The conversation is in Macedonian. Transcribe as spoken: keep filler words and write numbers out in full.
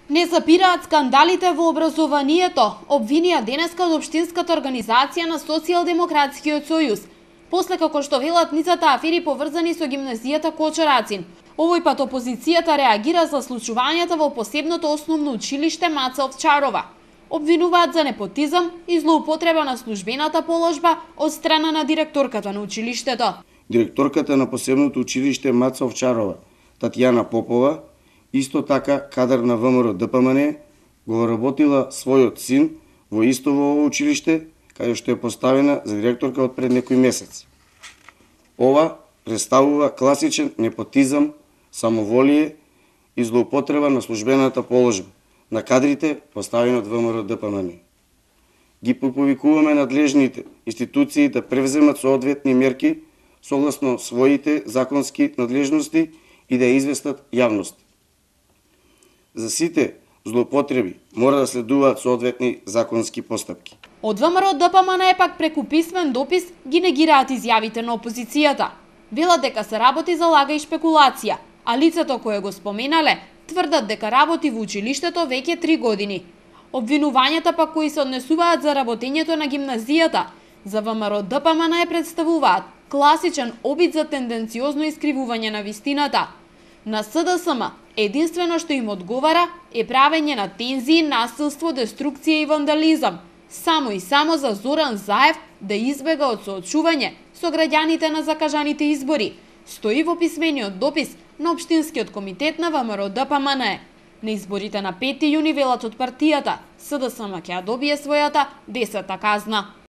Не запираат скандалите во образованието, обвинија денеска од Општинската организација на Социјалдемократскиот сојуз, после како што велат ницата афери поврзани со гимназијата Кочурацин. Овој пат опозицијата реагира за случувањата во посебното основно училиште Маца Овчарова. Обвинуваат за непотизам и злоупотреба на службената положба од страна на директорката на училиштето. Директорката на посебното училиште Маца Овчарова, Татјана Попова, исто така кадар на ВМРО Д П М Н, го работила својот син во исто во ово училиште, каде што е поставена за директорка од пред некој месец. Ова представува класичен непотизам, самоволие и злоупотреба на службената положба на кадрите поставени од ВМРО Д П М Н. Ги повикуваме надлежните институции да превземат соодветни мерки согласно своите законски надлежности и да известат јавност. За сите злоупотреби мора да следуваат соодветни законски постапки. Од ВМРО Д П М Н пак преку писмен допис ги негираат изјавите на опозицијата. Велат дека се работи за лага и шпекулација, а лицето кое го споменале тврдат дека работи во училиштето веќе три години. Обвинувањата пак кои се однесуваат за работењето на гимназијата за ВМРО Д П М Н представуваат класичен обид за тенденциозно искривување на вистината. На С Д С М единствено што им одговара е правење на тензии, насилство, деструкција и вандализам, само и само за Зоран Заев да избега од соочување со граѓаните на закажаните избори, стои во писмениот допис на Општинскиот комитет на ВМРО Д П М Н. На изборите на пети јуни велат од партијата, С Д С М ќе ја добие својата десета казна.